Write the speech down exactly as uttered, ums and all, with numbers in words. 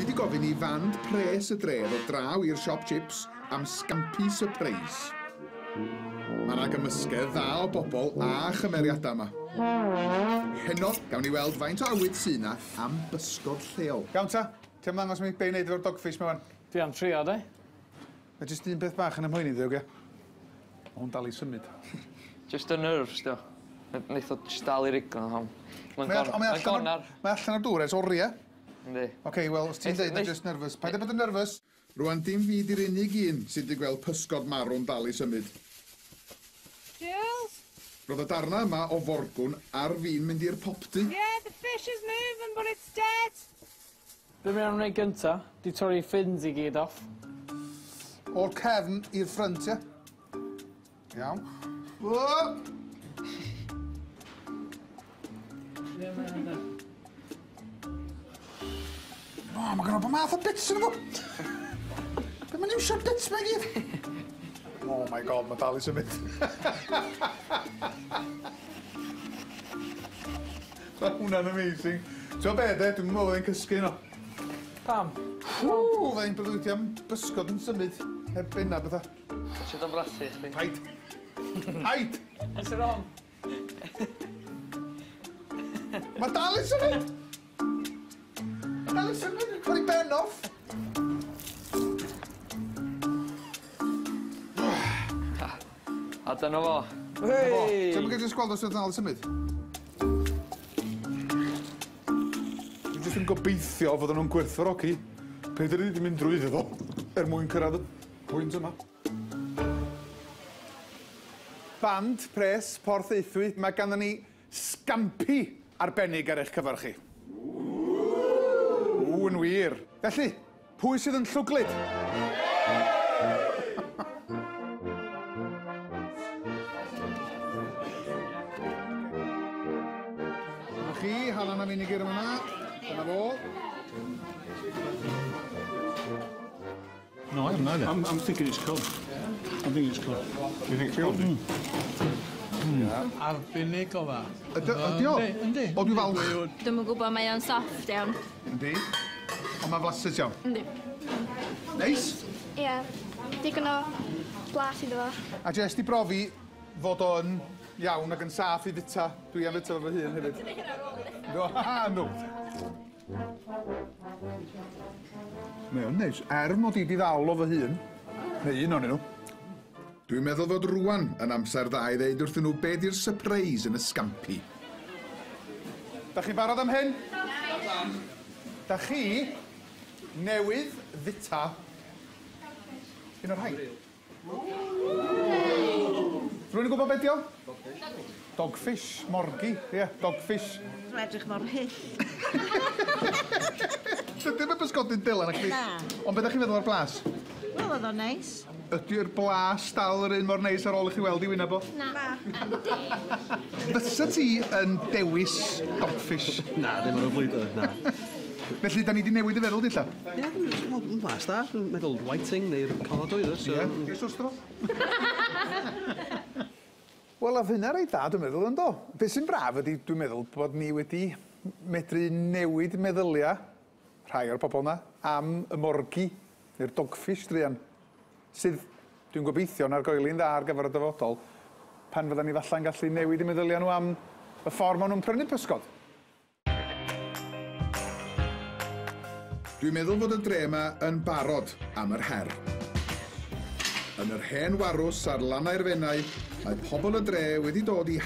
Dwi wedi gofyn i fand pres y dre ddod draw i'r siop chips am scampi surprise. Mae yna gymysgedd dda o bobl a chymeriadau yma. Heno, gawn ni weld faint o awydd sy 'na am bysgod lleol. Iawn ta, ti am ddangos mi be i wneud efo'r dogfish 'ma wan? Dwi am trio, de. Mae jyst un peth bach yn ymhoeni ddi, oge? Ma' hwn dal i symud. Just y nerves, dio. Neith o just dal i riglo hon. Mae'n gonar. Mae allan o'r dŵr ers oriau. Yndi. Oce, wel, os ti'n deud just nervous, paid â bod yn nervous. Rwan, dim fi di'r unig un sydd wedi gweld pysgod marw'n dal i symud. Jules? Roedd y darna yma o forgwn ar fin mynd i'r popty. Yeah, the fish is moving, but it's dead. Be mae'n wneud gynta, di torri fins i gyd off. O'r cefn i'r ffrynt, ie? Iawn. O! O, mae gynno bob math o bits yn fo. Be mae'n iwsio'r bits ma i gyd? Oh my God, mae dal i symud. Mae hwnna'n amazing. Ti'n be, de? Dwi'n meddwl fydda i'n cysgu yno. Pam? Ww, fydda i'n breuddwydio am bysgod yn symud. Heb benna bethau. Ti o'n brathu chdi? Paid. Paid! What's wrong? Mae dal i symud! Dal i symud, dwi'n torri ben off. A dyna fo. Hei! Ti'n mynd jyst gweld os yw'n dal i symud? Dwi'n jyst yn gobeithio fod nhw'n gwerthfawrogi be dan ni wedi mynd drwyddo fo er mwyn cyrraedd y pwynt yma. Band pres Porthaethwy, mae ganddon ni scampi arbennig ar eich cyfer chi. Ww, yn wir. Felly, pwy sydd yn llwglyd? Dyma chi, halan a vinegar yma. Dyna fo. No, I haven't either. I'm, I'm thinking it's cod. I'm thinking it's cod. You think it's cod? Mm. Mm. Arbennig o dda. Ydy o? Yndi. O, dwi'n falch. Dwi'm yn gwybod, mae o'n soft iawn. Yndi. Ond mae'n flasus iawn. Yndi. Neis? Ie. Digon o blas iddo fo. A jyst i brofi fod o'n iawn ac yn saff i fita. Dwi am fita fo fy hun hefyd. Do, ha, no. Mae o'n neis. Er mod i 'di ddal o fy hun, neu un ohonyn nhw. Dwi'n meddwl fod rwan yn amser dda i ddeud wrthyn nhw be di'r surprise yn y scampi. Da chi'n barod am hyn? Da chi newydd fita un o'r rhain. Rwy'n gwybod beth di o? Dogfish, morgi, ie, yeah, dogfish. Mae'n edrych mor hyll. Dim y bysgodyn Dylan, actually. Na. Ond beth ydych chi'n feddwl o'r blas? Wel, oedd o'n neis. Ydy'r blas dal yr un mor neis ar ôl i chi weld i wyneb o? Na. Fysa ti yn dewis dogfish? Na, ddim ar y flwyddyn, na. Felly, da ni wedi newid y feddwl, dilla? Ie, dwi'n blas da. Dwi'n meddwl whiting neu'r cod oedd o, so... Ie, jyst wrth dro. Wel, a hynna reit dda, dwi'n meddwl, yndo? Be sy'n braf ydy, dwi'n meddwl, bod ni wedi medru newid meddyliau rhai o'r pobl yna am y morgi, neu'r dogfish druan, sydd, dwi'n gobeithio, yn argoeli'n dda ar gyfer y dyfodol, pan fyddan ni falla'n gallu newid y meddyliau nhw am y ffordd maen nhw'n prynu pysgod. Dwi'n meddwl fod y dre yma yn barod am yr her. Yn yr hen warws ar lannau'r Fenai, mae pobl y dre wedi dod i